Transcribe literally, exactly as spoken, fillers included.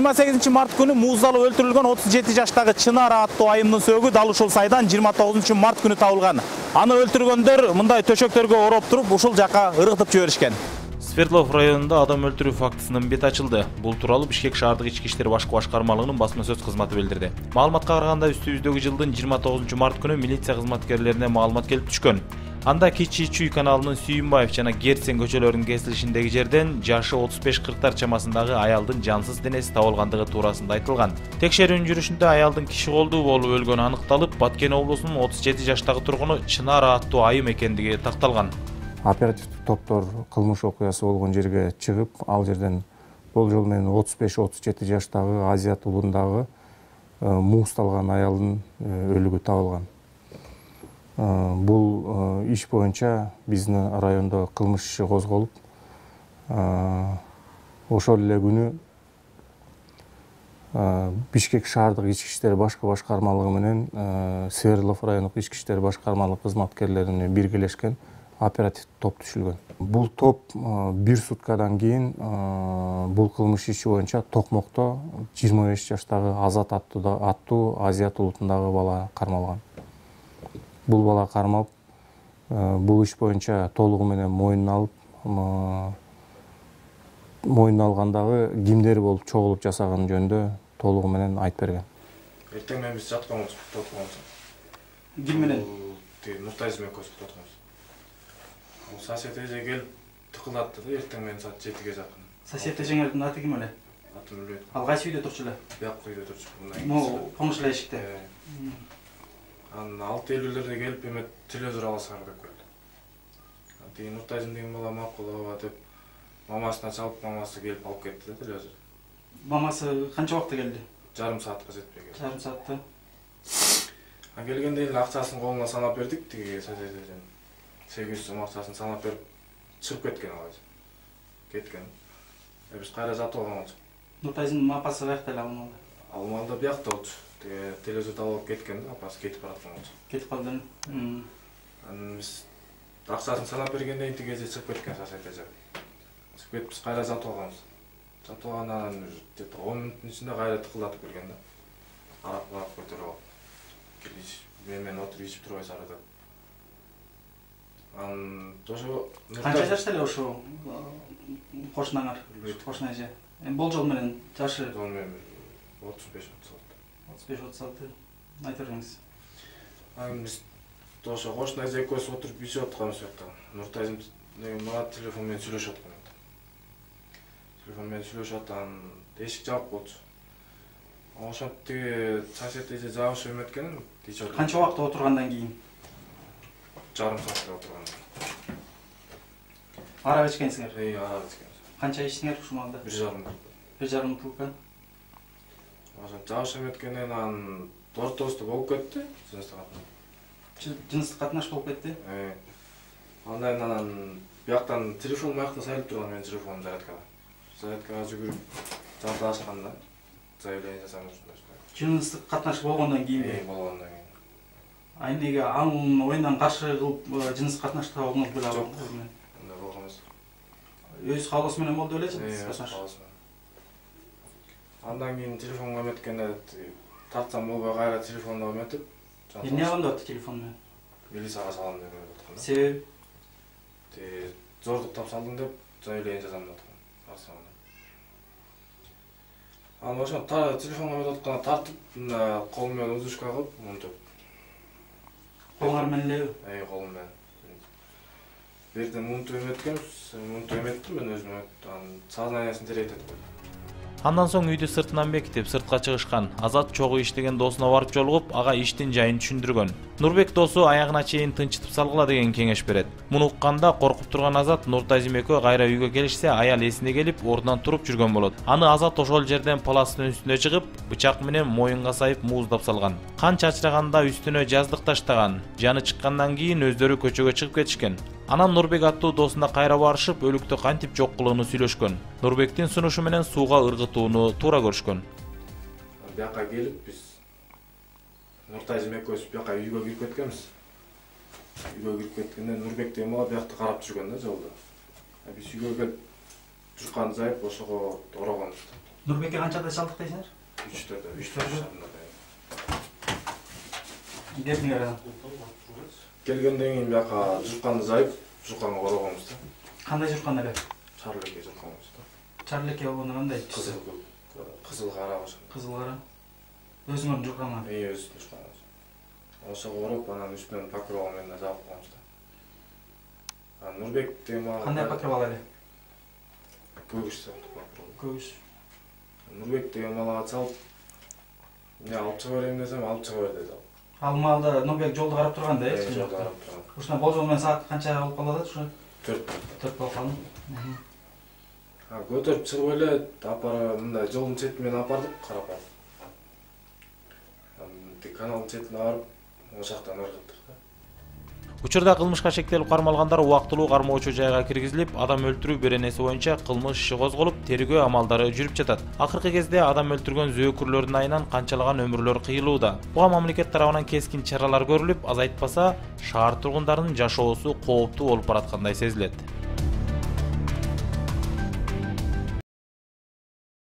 жыйырма сегизинчи март күнү мууздалып өлтүрүлгөн отуз жети жаштагы Чынар аттуу айымдын сөөгү дал ушул сайдан жыйырма тогузунчу март күнү табылган. Аны өлтүргөндөр мындай төшөктөргө ороп туруп ушул жака ыргытып жиберишкен. Свердлов районунда адам өлтүрүү фактысынын бети ачылды. Бул тууралуу Бишкек шаардык ички иштер башкы башкармалыгынын басма сөз кызматы билдирди. Маалыматка караганда үстүбүздөгү жылдын жыйырма тогузунчу март күнү милиция кызматкерлерине маалымат келип түшкөн. Анда Кичи Чүй каналынын Сүйүнбаев жана Герцен көчөлөрүнүн кесилишиндеги жерден жашы отуз беш кырктар чамасындагы аялдын жансыз денеси табылгандыгы туурасында айтылган. Текшерүүнүн жүрүшүндө аялдын киши колдуу болуп өлгөнү аныкталып, Баткен облусунун отуз жети жаштагы тургуну Чынар аттуу айым экендиги такталган. Оперативдик топтор кылмыш окуясы болгон жерге чыгып, ал жерден болжол менен отуз беш отуз жети жаштагы Азият уулундагы мууздалган аялдын өлүгү табылган. Бул иш боюнча биздин райондо кылмыш иши козголуп, ошол эле күнү Бишкек шаардык ички иштер башкы башкармалыгы менен Свердлов райондук ички иштер башкармалык кызматкерлеринин биргелешкен оперативдик топ түшүлгөн. Бул топ бир суткадан кийин бул кылмыш иши боюнча Токмокто жыйырма беш жаштагы Азат аттуу Азият улутундагы бала кармалган. Бул бала кармалып, бул иш боюнча толугу менен мойнуна алып, мойнуна алгандагы кимдер болуп чогулуп жасаган жөнүндө толугу менен айтып берген. Эртең менен биз жатканбыз, тотконбуз. Ким менен? Нуртайзым экөөбүз тотконбуз. Бул сосед эже келип тыкылдатты да, эртең менен саат жетиге жакын. Сосед эжеңердин аты ким эле? Атын билбейт. Ал кайсы үйдө турчу эле? Бияк үйдө турчу. Могу коңшу эле эшикте. Анан алты элүүлөрдө келип эме телевизор аласыңар деп келди. Анан Нуртайзым деген бала макул ооба деп мамасына чалып, мамасы келип алып кетти да телевизор. Мамасы канча убакытта келди? Жарым саатка жетпей келди. Жарым саатта. А келгенде эле акчасын колуна санап бердик, тиги соседден. сегиз жүз сом акчасын санап берип чыгып кеткен ал эже. Кеткен. Э биз кайра жатып алган болчук. Нуртайзымдын апасы каякта эле ал? Ал малда биякта болчу. Тиги телевизорду алып кеткен да, апасы кетип бараткан болчу. Кетип калды. Анан биз акчасын санап бергенден кийин тиги эже чыгып кеткен сосед эже. Чыгып кетип биз кайра жатып алганбыз. Жатып алгандан где-то он мүнөттүн ичинде кайра тыкылдатып келген да. Арак барып көтөрүп алып. Келиш, мен менен отуруп ичип турбайсыңар деп. Анан ошо канча жашта эле ошо кошунаңар? Кошуна эже. Эми болжол менен жашы отуз беш отуз алты. отуз беш отуз алты. Айта бериңиз. Анан биз ошо кошуна эже экөөбүз отуруп ичип атканбыз жакта. Нуртайзым деген бала телефон менен сүйлөшүп аткан. Телефон менен сүйлөшүп аткан, эшик жабык болчу. Ошо тиги сосед эже жабышып эметкен. Канча убакыт отургандан кийин? Жарым саатта отурган. Арак ичкенсиңер? Эй, арак ичкенбиз. Канча ичтиңер ушул маалда? бир жарым. бир жарым бутылка. Ошо жабышып эметкенден анан ортосунда болуп кетти, жыныстык катнаш. Жыныстык катнаш болуп кетти? Э. Андан анан бияктан телефон маякта сайылып турган менин телефонум зарядкага. Зарядкага жүгүрүп жарты ачканда заявление жасаган ушундай. Жыныстык катнаш болгондон кийин? Э, болгондон кийин. А эмнеге анын оюндан каршы кылып жыныстык катнашта болдуңуз беле? Жок, андай болгон эмес. Өз каалоосу менен болду беле жыныстык катнаш? Андан кийин телефонго эметкенде тартсам болбой кайра телефонду эметип. Эмне кылам деп атты телефон менен? Милицияга салам деп аткан. Себеби? Те зордуктап салдың деп заявление жазам деп аткан. Анан ошо телефонго эметип атканда тартып, кол менен удушка кылып, монтип. Колуңар менен элеби? Эй, колум менен. Берден мунту эметкенбиз, мунту эметтим мен өзүм, анан сознаниесин теретип койдум. Андан соң үйдү сыртынан бекитип, сыртка чыгышкан. Азат чогуу иштеген досуна барып жолугуп, ага иштин жайын түшүндүргөн. Нурбек досу аягына чейин тынчытып салгыла деген кеңеш берет. Муну укканда коркуп турган Азат Нуртайзым экөө кайра үйгө келишсе, аял эсине келип, ордунан туруп жүргөн болот. Аны Азат ошол жерден паластын үстүнө чыгып, бычак менен моюнга сайып мууздап салган. Кан чачыраганда үстүнө жаздык таштаган. Жаны чыккандан кийин өздөрү көчөгө чыгып кетишкен. Анан Нурбек аттуу досуна кайра барышып, өлүктү кантип жок кылууну сүйлөшкөн. Нурбектин сунушу менен сууга ыргытууну туура көрүшкөн. Бияка келип биз Нуртайзым экөөбүз бияка үйгө кирип кеткенбиз. Үйгө кирип кеткенде Нурбек деген бала биякты карап жүргөн да жолдо. Биз үйгө келип турган жайып ошого орогонбуз. Нурбекке канчада чалдык дейсиңер? Үчтөрдө. Үчтөрдө. Эмнеге анан? Келгенден кийин бияка жукканды жайып, жукканга корогонбуз да. Кандай журкан эле? Чарлеке жукканбыз да. Чарлеке болгондо кандай? Кызыл кызыл кара ошо. Кызыл кара. Өзүңөрдүн журкаңар. Эй, өзүбүздүн жукканыбыз. Ошого короп, анан үстүнөн покрова менен жаап койгонбуз да. Анан Нурбек деген мага Кандай покрова эле? көгүш сыяктуу покрова. Көгүш. Нурбек деген малага чалып, эмне алып чыга берейин десем, алып чыга бер деди. Ал маалда Нурбек жолду карап турганда, э? Жолду карап турган. Ушуна болжол менен саат канча болуп калат ушу? төрт. төрт болуп калды. А көтөрүп чыгып эле апара мындай жолдун чети менен апардык, карап алып. Анан тик каналдын четине барып, ошол жактан ыргыттык да. Учурда кылмышка шектелип кармалгандар убактылуу кармоочу жайга киргизилип, адам өлтүрүү беренеси боюнча кылмыш иши козголуп, тергөө амалдары жүрүп жатат. Акыркы кезде адам өлтүргөн зөөкүрлөрдүн айынан канчалаган өмүрлөр кыйылууда. Буга мамлекет тарабынан кескин чаралар көрүлүп, азайтпаса, шаар тургундарынын жашоосу кооптуу болуп бараткандай сезилет.